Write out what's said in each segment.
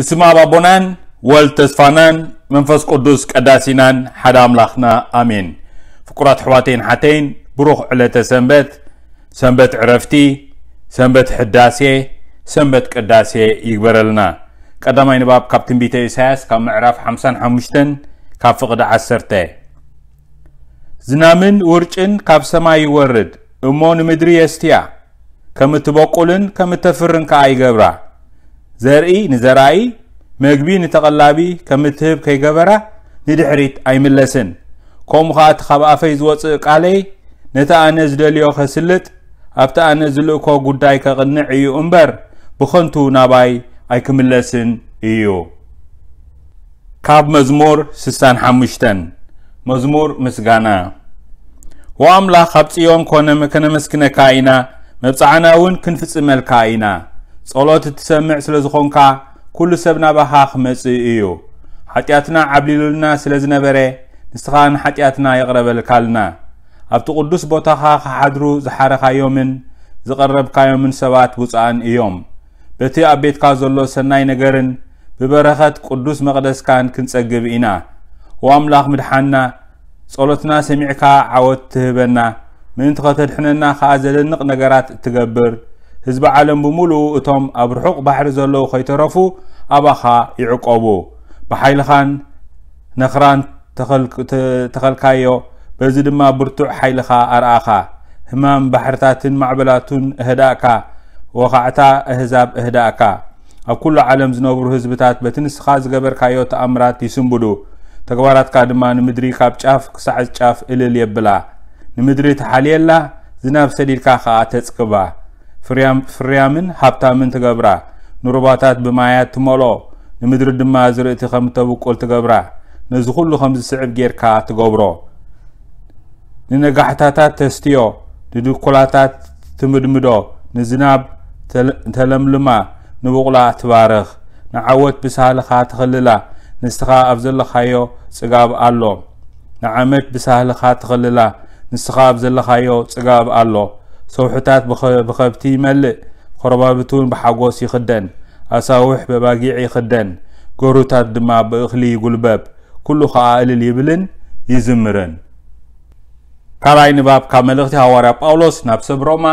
ብስም ኣብ ኣቦናን ወልድ ተስፋናን መንፈስ ቅዱስ ቀዳሲናን ሓደ ኣምላኽና ኣሜን። ፍቁራት ኣሕዋተይን ሓተይን፣ ብሩኽ ዕለተ ሰንበት፣ ሰንበት ዕረፍቲ፣ ሰንበት ሕዳሴ፣ ሰንበት ቅዳሴ ይግበረልና። ቀዳማይ ንባብ ካብ ትንቢተ ኢሳያስ ካብ ምዕራፍ ሓምሳን ሓሙሽተን ካብ ፍቕዲ ዓሰርተ። ዝናምን ውርጭን ካብ ሰማይ ይወርድ እሞ ንምድሪ የስትያ፣ ከም እትበቁልን ከም እተፍርን ከኣ ይገብራ። ዘርኢ ንዘራኢ፣ መግቢ ንተቐላቢ ከም እትህብ ከይገበራ ንድሕሪት ኣይምለስን። ከምኡ ኸኣ እቲ ካብ ኣፈይ ዝወጽእ ቃለይ ነቲ ኣነ ዝደልዮ ኸስልጥ፣ ኣብቲ ኣነ ዝልእኮ ጉዳይ ከቕንዕ እዩ እምበር ብኸንቱ ናባይ ኣይክምለስን እዩ። ካብ መዝሙር ስሳን ሓሙሽተን። መዝሙር ምስጋና። ወኣምላኽ ኣብ ጽዮን ኮነ ከነመስግነካ ኢና፣ መብጽዓና እውን ክንፍጽመልካ ኢና። ጸሎት እትሰምዕ ስለ ዝኾንካ ኩሉ ሰብ ናባኻ ክመጽእ እዩ። ሓጢኣትና ዓብሊሉልና ስለ ዝነበረ ንስኻ ንሓጢኣትና ይቕረበልካልና። ኣብቲ ቅዱስ ቦታኻ ክሓድሩ ዝሓረኻዮምን ዝቐረብካዮምን ሰባት ብፁዓን እዮም። በቲ ኣብ ቤትካ ዘሎ ሰናይ ነገርን ብበረኸት ቅዱስ መቕደስካን ክንጸግብ ኢና። ወኣምላኽ ምድሓንና፣ ጸሎትና ሰሚዕካ ዓወት ትህበና፣ ምእንቲ ኸተድሕነና ኸኣ ዘደንቕ ነገራት እትገብር፣ ህዝቢ ዓለም ብምሉኡ እቶም ኣብ ርሑቕ ባሕሪ ዘለዉ ኸይተረፉ ኣባኻ ይዕቆቡ። ብሓይልኻን ነኽራን ተኸልክ-፣ ተ-፣ ተኸልካዮ፣ በዚ ድማ ብርቱዕ ሓይልኻ ኣርኣኻ። ህማም ባሕርታትን ማዕበላቱን እህዳእካ፣ ወኻዕታ ኣህዛብ እህዳእካ። ኣብ ኩሉ ዓለም ዝነብሩ ህዝብታት በቲ ንስኻ ዝገበርካዮ ተኣምራት ይስንብዱ። ተግባራትካ ድማ ንምድሪ ካብ ጫፍ ክሳዕ ጫፍ እልል የብላ። ንምድሪ ትሓልየላ፣ ዝናብ ሰዲድካ ኸኣ ተጽግባ። ፍርያም-፣ ፍርያምን ሃብታምን ትገብራ። ንሩባታት ብማያት ትመልኦ፣ ንምድሪ ድማ ዝርእቲ ከም እተብቁል ትገብራ። ነዚ ኹሉ ከም ዝስዕብ ጌርካ ትገብሮ። ንነጋሕታታት ተስትዮ፣ ንድኩላታት ትምድምዶ፣ ንዝናብ ተለ-፣ ተለምልማ፣ ንቡቕላ ትባርኽ። ንዓወት ብሳህልኻ ትኽልላ፣ ንስኻ ኣብ ዘለኻዮ ጽጋብ ኣሎ። ንዓመት ብሳህልኻ ትኽልላ፣ ንስኻ ኣብ ዘለኻዮ ጽጋብ ኣሎ። ሰውሕታት ብኸ-፣ ብኸብቲ ይመልእ፣ ኾረባብት እውን ብሓጎስ ይኽደን። ኣሳውሕ በባጊዕ ይኽደን፣ ገሩታት ድማ ብእኽሊ ይጉልበብ። ኩሉ ኸኣ እልል ይብልን ይዝምርን። ካልኣይ ንባብ ካብ መልእኽቲ ሃዋርያ ጳውሎስ ናብ ሰብ ሮማ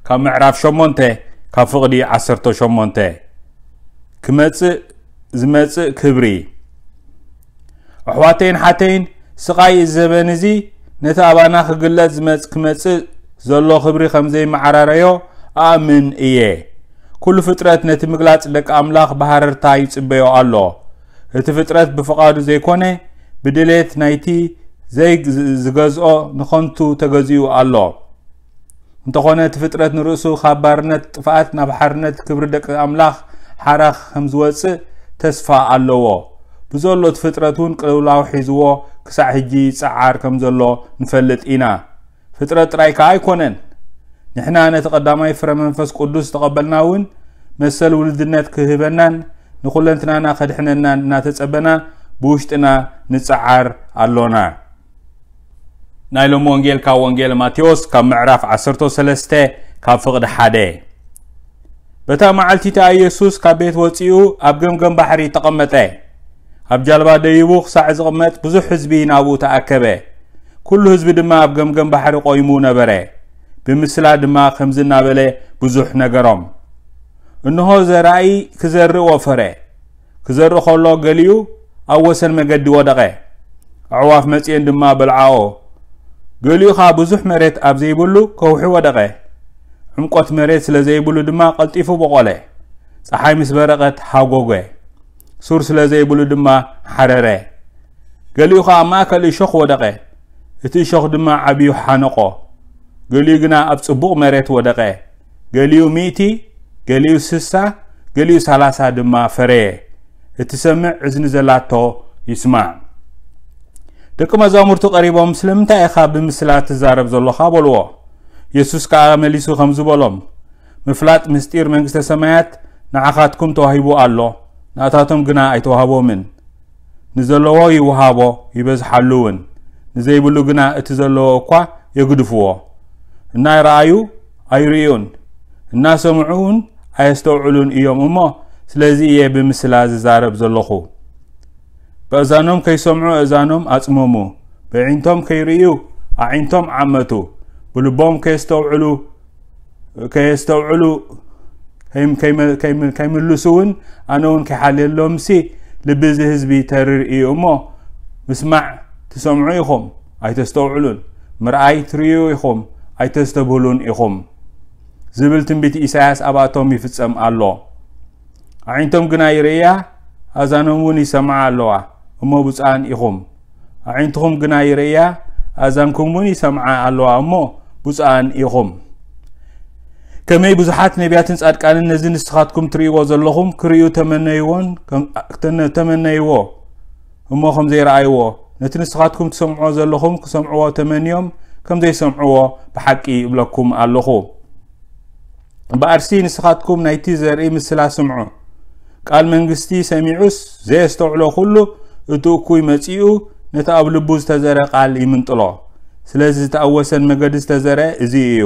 ካብ ምዕራፍ ሸሞንተ ካብ ፍቕዲ ዓሰርተ ሸሞንተ። ክመጽእ ዝመጽእ ክብሪ። ኣሕዋተይን ሓተይን፣ ስቓይ እዚ ዘበን እዚ ነቲ ኣባና ክግለጽ ዝመጽ-፣ ክመጽእ ዘሎ ክብሪ ከም ዘይመዓራረዮ ኣኣምን እየ። ኩሉ ፍጥረት ነቲ ምግላጽ ደቂ ኣምላኽ ብሃረርታ ይጽበዮ ኣሎ። እቲ ፍጥረት ብፍቓዱ ዘይኮነ፣ ብድሌት ናይቲ ዘይ-፣ ዝገዝኦ ንኸንቱ ተገዚኡ ኣሎ። እንተኾነ እቲ ፍጥረት ንርእሱ ካብ ባርነት ጥፍኣት ናብ ሓርነት ክብሪ ደቂ ኣምላኽ ሓራ ከም ዝወጽእ ተስፋ ኣለዎ። ብዘሎ እቲ ፍጥረት እውን ቅልውላው ሒዝዎ ክሳዕ ሕጂ ይጸዓር ከም ዘሎ ንፈልጥ ኢና። ፍጥረት ጥራይ ከኣ ኣይኮነን። ንሕና ነቲ ቀዳማይ ፍረ መንፈስ ቅዱስ ዝተቐበልና እውን መሰል ውልድነት ክህበናን ንኹለንትናና ከድሕነናን እናተጸበና ብውሽጥና ንጸዓር ኣሎና። ናይ ሎሚ ወንጌል ካብ ወንጌል ማቴዎስ ካብ ምዕራፍ ዓሰርተ ሰለስተ ካብ ፍቕዲ ሓደ። በታ መዓልቲ እቲኣ ኢየሱስ ካብ ቤት ወጺኡ ኣብ ገምገም ባሕሪ ተቐመጠ። ኣብ ጃልባ ደይቡ ክሳዕ ዝቕመጥ ብዙሕ ህዝቢ ናብኡ ተኣከበ። ኩሉ ህዝቢ ድማ ኣብ ገምገም ባሕሪ ቆይሙ ነበረ። ብምስላ ድማ ከምዚ እናበለ ብዙሕ ነገሮም። እንሆ ዘራኢ ክዘርእ ወፈረ። ክዘርእ ከሎ ገሊኡ ኣብ ወሰን መገዲ ወደቐ። ኣዕዋፍ መጺኤን ድማ በልዓኦ። ገሊኡ ኸኣ ብዙሕ መሬት ኣብ ዘይብሉ ከውሒ ወደቐ። ዕምቆት መሬት ስለ ዘይብሉ ድማ ቀልጢፉ በቖለ። ጸሓይ ምስ በረቐት ሃጎገ። ሱር ስለ ዘይብሉ ድማ ሓረረ። ገሊኡ ኸኣ ኣብ ማእከል እሾኽ ወደቐ። እቲ እሾኽ ድማ ዓብዩ ሓነቖ። ገሊኡ ግና ኣብ ጽቡቕ መሬት ወደቐ። ገሊኡ ሚእቲ፣ ገሊኡ ስሳ፣ ገሊኡ ሰላሳ ድማ ፈረየ። እትሰምዕ እዝኒ ዘላቶ ይስማዕ። ደቂ መዛሙርቱ ቀሪቦም፣ "ስለምንታይ ኢኻ ብምስላ ትዛረብ ዘሎኻ?" በልዎ። የሱስ ከኣ መሊሱ ከምዚ በሎም፣ "ምፍላጥ ምስጢር መንግስተ ሰማያት ንዓኻትኩም ተዋሂቡ ኣሎ፣ ናታቶም ግና ኣይተዋህቦምን። ንዘለዎ ይወሃቦ፣ ይበዝሓሉ እውን። ንዘይብሉ ግና እቲ ዘለዎ እኳ የግድፍዎ። እናረኣዩ ኣይርእዩን፣ እናሰምዑ እውን ኣየስተውዕሉን እዮም እሞ፣ ስለዚ እየ ብምስላ ዝዛረብ ዘለኹ። በእዛኖም ከይሰምዑ እእዛኖም ኣጽመሙ፣ በዒንቶም ከይርእዩ ኣዒንቶም ዓመቱ፣ ብልቦም ከየስተውዕሉ ከየስተውዕሉ ከይም- ከይመ- ከይም- ከይምልሱ እውን ኣነ እውን ከይሓልየሎምሲ፣ ልቢ እዚ ህዝቢ ተርር እዩ እሞ፣ ምስማዕ ትሰምዑ ኢኹም ኣይተስተውዕሉን፣ ምርኣይ ትርእዩ ኢኹም ኣይተስተብህሉን ኢኹም፣ ዝብል ትንቢት ኢሳያስ ኣብኣቶም ይፍጸም ኣሎ። ኣዒንቶም ግና ይርእያ፣ ኣዛኖም እውን ይሰምዓ ኣለዋ እሞ ብፁዓን ኢኹም። ኣዒንትኹም ግና ይርእያ፣ ኣዛንኩም እውን ይሰምዓ ኣለዋ እሞ ብፁዓን ኢኹም። ከመይ ብዙሓት ነቢያትን ጻድቃንን ነዚ ንስኻትኩም ትርእይዎ ዘለኹም ክርእዩ ተመነይዎን ከም- ተነ- ተመነይዎ እሞ ከም ዘይረኣይዎ፣ ነቲ ንስኻትኩም ትሰምዕዎ ዘለኹም ክሰምዕዎ ተመንዮም ከም ዘይሰምዕዎ ብሓቂ ይብለኩም ኣለኹ። እምበኣርሲ ንስኻትኩም ናይቲ ዘርኢ ምስላ ስምዑ። ቃል መንግስቲ ሰሚዑስ ዘየስተውዕሎ ኩሉ፣ እቲ እኩይ መጺኡ ነቲ ኣብ ልቡ ዝተዘረ ቃል ይምንጥሎ። ስለዚ እቲ ኣብ ወሰን መገዲ ዝተዘረ እዚ እዩ።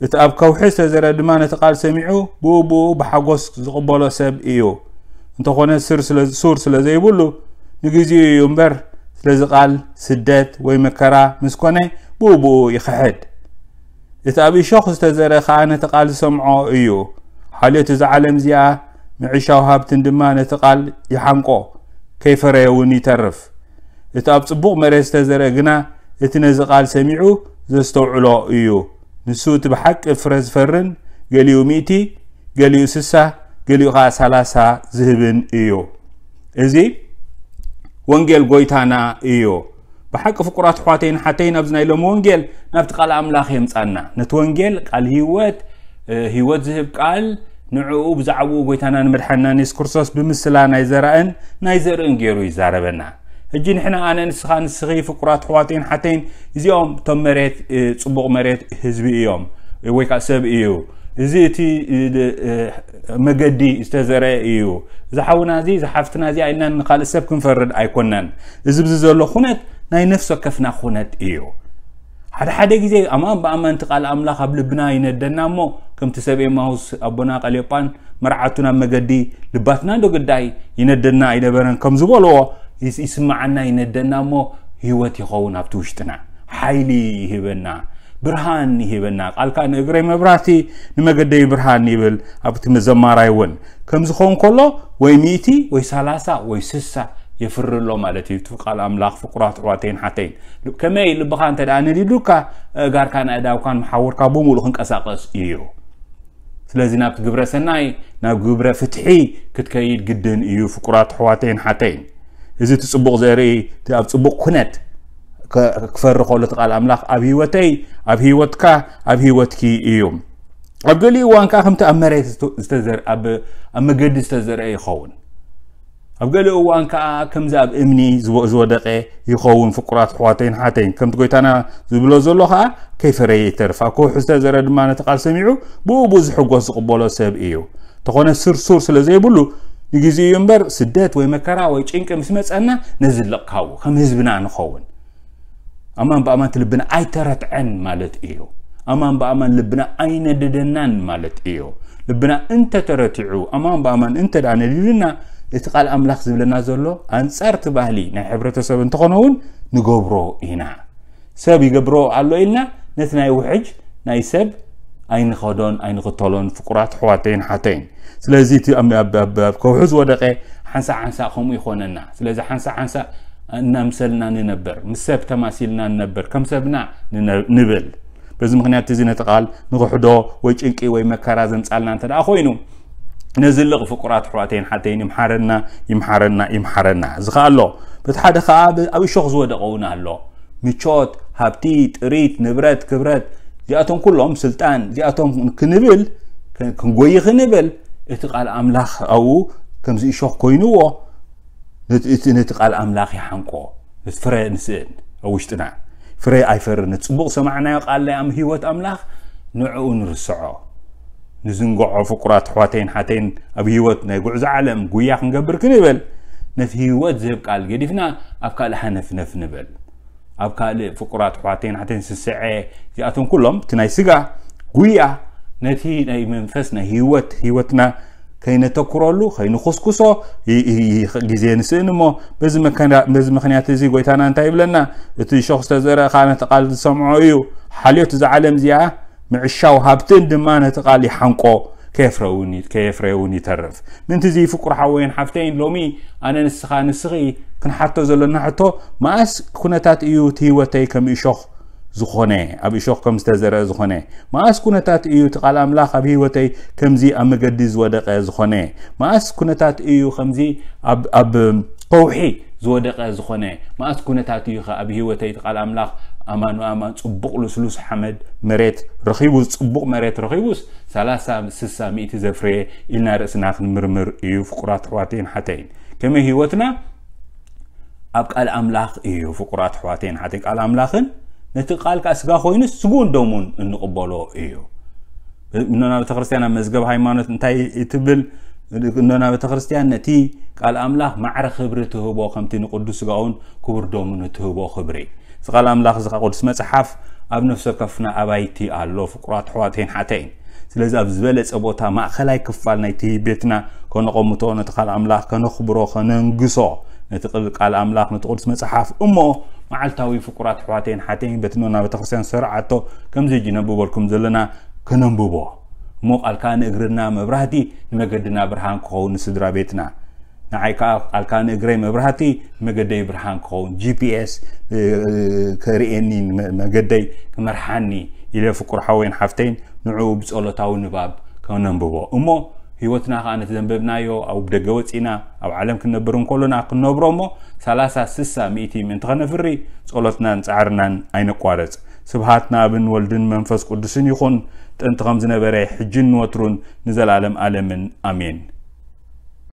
እቲ ኣብ ከውሒ ዝተዘረ ድማ ነቲ ቃል ሰሚዑ ብኡ ብኡ ብሓጎስ ዝቕበሎ ሰብ እዩ። እንተኾነ ስር ስለ- ሱር ስለ ዘይብሉ ንግዜኡ እዩ እምበር፣ ስለዚ ቃል ስደት ወይ መከራ ምስ ኮነ ብኡ ብኡ ይኽሕድ። እቲ ኣብ እሾኽ ዝተዘረ ኸኣ ነቲ ቃል ዝሰምዖ እዩ። ሓልዮት እዛ ዓለም እዚኣ ምዕሻው ሃብትን ድማ ነቲ ቃል ይሓንቆ፣ ከይፈረየ እውን ይተርፍ። እቲ ኣብ ጽቡቕ መሬት ዝተዘርአ ግና እቲ ነዚ ቃል ሰሚዑ ዘስተውዕሎ እዩ። ንሱ እቲ ብሓቂ ፍረ ዝፈርን፣ ገሊኡ ሚእቲ፣ ገሊኡ ስሳ፣ ገሊኡ ኸዓ ሰላሳ ዝህብን እዩ። እዚ ወንጌል ጎይታና እዩ። ብሓቂ ፍቁራት ኣሕዋተይን ሓተይን ኣብዚ ናይ ሎሚ ወንጌል ናብቲ ቃል ኣምላኽ የምጻና። ነቲ ወንጌል ቃል ህይወት፣ እ፣ ህይወት ዝህብ ቃል ንዕኡ ብዛዕባኡ ጎይታና ንመድሓንናን የሱስ ክርስቶስ ብምስላ ናይ ዘራእን ናይ ዘርእን ገይሩ ይዛረበና። ሕጂ ንሕና ኣነ ንስኻ ንስኺ ፍቁራት ኣሕዋተይን ሓተይን እዚኦም እቶም መሬት፣ እ፣ ጽቡቕ መሬት ህዝቢ እዮም ወይ ከዓ ሰብ እዩ። እዚ እቲ፣ እ፣ እ፣ መገዲ ዝተዘርአ እዩ። እዚ ሓውና እዚ፣ እዚ ሓፍትና እዚኣ ኢልና ንኻልእ ሰብ ክንፈርድ ኣይኮናን። እዚ ብዚ ዘሎ ኩነት ናይ ነፍሲ ወከፍና ኩነት እዩ። ሓደ ሓደ ግዜ ኣማን ብኣማን እቲ ቃል ኣምላኽ ኣብ ልብና ይነደና እሞ፣ ከምቲ ሰብ ኤማሁስ ኣቦና ቀልዮጳን መርዓቱ ናብ መገዲ ልባትና ዶ ግዳይ ይነደና ኣይነበረን ከም ዝበልዎ ይስ- ይስምዓና ይነደና እሞ፣ ህይወት ይኸውን ኣብቲ ውሽጥና፣ ሓይሊ ይህበና፣ ብርሃን ይህበና። ቃልካ ንእግረይ መብራህቲ ንመገደይ ብርሃን ይብል ኣብቲ መዘማራይ እውን። ከም ዝኸውን ከሎ ወይ ሚእቲ ወይ ሰላሳ ወይ ስሳ የፍሪ ኣሎ ማለት እዩ። እቲ ቃል ኣምላኽ ፍቁራት ኣሕዋተይን ሓተይን ከመይ ልብኻ እንተ ደኣ ነዲዱካ፣ ኣእጋርካን ኣእዳውካን መሓውርካ ብምሉእ ክንቀሳቐስ እዩ። ስለዚ ናብቲ ግብረ ሰናይ፣ ናብ ግብረ ፍትሒ ክትከይድ ግድን እዩ ፍቁራት ኣሕዋተይን ሓተይን። እዚ እቲ ጽቡቕ ዘርኢ እቲ ኣብ ጽቡቕ ኩነት ከ- ክፈሪ ከሎ እቲ ቃል ኣምላኽ ኣብ ህይወተይ፣ ኣብ ህይወትካ፣ ኣብ ህይወትኪ እዩ። ኣብ ገሊኡ እዋን ከኣ ከምቲ ኣብ መሬት ዝተ- ዝተዘር- ኣብ ኣብ መገዲ ዝተዘርአ ይኸውን። ኣብ ገሊኡ እዋን ከኣ ከምዚ ኣብ እምኒ ዝወ- ዝወደቀ ይኸውን። ፍቁራት ኣሕዋተይን ሓተይን ከምቲ ጎይታና ዝብሎ ዘሎ ከኣ ከይፈረየ ይተርፍ። ኣብ ከውሒ ዝተዘረ ድማ ነቲ ቃል ሰሚዑ ብኡ ብኡ ዝሕጎስ ዝቕበሎ ሰብ እዩ። እንተኾነ ስር ሱር ስለ ዘይብሉ ንግዜኡ እዩ እምበር ስደት ወይ መከራ ወይ ጭንቂ ምስ መጸና ነዝልቕ ካብኡ ከም ህዝብና ንኸውን። ኣማን ብኣማን እቲ ልብና ኣይተረትዐን ማለት እዩ። ኣማን ብኣማን ልብና ኣይነደደናን ማለት እዩ። ልብና እንተተረቲዑ፣ ኣማን ብኣማን እንተ ደኣ ነዲዱና፣ እቲ ቃል ኣምላኽ ዝብለና ዘሎ ኣንጻር እቲ ባህሊ ናይ ሕብረተሰብ እንተኾነ እውን ንገብሮ ኢና። ሰብ ይገብሮ ኣሎ ኢልና ነቲ ናይ ውሕጅ ናይ ሰብ ኣይንኸዶን ኣይንኽተሎን ፍቁራት ኣሕዋተይን ሓተይን። ስለዚ እቲ ኣብ- ኣብ- ኣብ- ኣብ ከውሒ ዝወደቀ ሓንሳእ ሓንሳእ ከምኡ ይኾነና። ስለዚ ሓንሳእ ሓንሳእ እናምሰልና ንነበር፣ ምስ ሰብ ተማሲልና ንነበር፣ ከም ሰብና ንነ- ንብል። በዚ ምኽንያት እዚ ነቲ ቃል ንኽሕዶ ወይ ጭንቂ ወይ መከራ ዘምጻልና እንተ ደኣ ኮይኑ፣ ነዝልቕ ፍቁራት ኣሕዋተይን ሓተይን ይምሓረና፣ ይምሓረና፣ ይምሓረና። እዚ ኸኣ ኣሎ። በቲ ሓደ ኸኣ ብ- ኣብ እሾኽ ዝወደቐ እውን ኣሎ። ምቾት፣ ሃብቲ፣ ጥሪት፣ ንብረት፣ ክብረት፣ እዚኣቶም ኩሎም ስልጣን፣ እዚኣቶም ክንብል፣ ክ- ክንጎይ ክንብል፣ እቲ ቃል ኣምላኽ ኣብኡ ከምዚ እሾኽ ኮይንዎ፣ ነቲ እቲ ነቲ ቃል ኣምላኽ ይሓንቆ። ነቲ ፍረ ንስእን ኣብ ውሽጥና ፍረ ኣይፈርን። ነቲ ጽቡቕ ሰማዕናዮ ቃል ናይ ኣም- ህይወት ኣምላኽ ንዕኡ ንርስዖ። ንዝንግዖ ፍቁራት ኣሕዋተይን ሓተይን ኣብ ህይወት ናይ ጉዕዞ ዓለም ጉያ ክንገብር ክንብል ነቲ ህይወት ዝህብ ቃል ገዲፍና ኣብ ካልእ ሃነፍነፍ ንብል። ኣብ ካልእ ፍቁራት ኣሕዋተይን ሓተይን ስስዐ እዚኣቶም ኩሎም እቲ ናይ ስጋ ጉያ ነቲ ናይ መንፈስ ናይ ህይወት ህይወትና ከይነተኩረሉ፣ ከይንኹስኩሶ ግዜ ንስእን እሞ፣ በዚ ምክንያት እዚ ጎይታና እንታይ ይብለና? እቲ ሾኽ ዝተዘርአ ከዓ ነቲ ቃል ዝሰምዖ እዩ። ሓልዮት እዛ ዓለም እዚኣ ምዕሻው ሃብትን ድማ ነቲ ቃል ይሓንቆ፣ ከየፍረውን ከየፍረውን ይተርፍ። ምንቲ እዚ ፍቁር ሓወይን ሓፍተይን ሎሚ ኣነ ንስኻ ንስኺ ክንሓቶ ዘለና ሕቶ፣ መኣስ ኩነታት እዩ እቲ ህይወተይ ከም እሾኽ ዝኾነ፣ ኣብ እሾኽ ከም ዝተዘርአ ዝኾነ? መኣስ ኩነታት እዩ እቲ ቃል ኣምላኽ ኣብ ህይወተይ ከምዚ ኣብ መገዲ ዝወደቀ ዝኾነ? መኣስ ኩነታት እዩ ከምዚ ኣብ ኣብ ከውሒ ዝወደቀ ዝኾነ? መኣስ ኩነታት እዩ ከ ኣብ ህይወተይ እቲ ቃል ኣምላኽ ኣማን ኣማን ጽቡቕ ልስሉስ ሓመድ መሬት ረኺቡ፣ ጽቡቕ መሬት ረኺቡስ ሰላሳ ስሳ ሚእቲ ዘፍረየ ኢልና ርእስና ክንምርምር እዩ። ፍቁራት ኣሕዋተይን ሓተይን፣ ከመይ ህይወትና ኣብ ቃል ኣምላኽ እዩ። ፍቁራት ኣሕዋተይን ሓተይን፣ ቃል ኣምላኽን ነቲ ቃል ከዓ ስጋ ኮይኑስ ስግኡን ደሙን እንቕበሎ እዩ። እኖና ቤተክርስትያን ኣብ መዝገብ ሃይማኖት እንታይ ትብል? እኖና ቤተክርስትያን ነቲ ቃል ኣምላኽ ማዕረ ክብሪ ትህቦ፣ ከምቲ ንቅዱስ ስጋኡን ክቡር ደሙን እትህቦ ክብሪ። እዚ ቃል ኣምላኽ እዚ ቅዱስ መጽሓፍ ኣብ ነፍሲ ወከፍና ኣባይቲ ኣሎ። ፍቁራት ኣሕዋተይን ሓተይን፣ ስለዚ ኣብ ዝበለጸ ቦታ ማእከላይ ክፋል ናይቲ ቤትና ከነቐምጦ፣ ነቲ ቃል ኣምላኽ ከነኽብሮ፣ ከነንግሶ፣ ነቲ ቅል- ቃል ኣምላኽ፣ ነቲ ቅዱስ መጽሓፍ እሞ መዓልታዊ፣ ፍቁራት ኣሕዋተይን ሓተይን፣ በቲ ኖና ቤተክርስትያን ዝሰርዓቶ ከምዚ ሕጂ ነብበልኩም ዘለና ከነንብቦ። እሞ ቃልካ ንእግርና መብራህቲ፣ ንመገድና ብርሃን ክኸውን ንስድራ ቤትና። ንዓይ ከዓ ቃልካ ንእግረይ መብራህቲ፣ ንመገደይ ብርሃን ክኸውን፣ ጂ ፒ ኤስ ከርእየኒ፣ መ- መገደይ ክመርሓኒ ኢለ፣ ፍቁር ሓወይን ሓፍተይን፣ ንዕኡ ብጸሎታዊ ንባብ ከነንብቦ እሞ፣ ህይወትና ከዓ ነቲ ዘንበብናዮ ኣብ ደገ ወጺና ኣብ ዓለም ክንነብር እንከሎና ክንነብሮ እሞ፣ ሰላሳ ስሳ ሚእቲ ምእንቲ ከነፍሪ ጸሎትናን ጻዕርናን ኣይነቋርጽ። ስብሃት ንኣብን ወልድን መንፈስ ቅዱስን ይኹን፣ ጥንቲ ከም ዝነበረ፣ ሕጅን ንወትሩን ንዘላለም ኣለምን ኣሜን።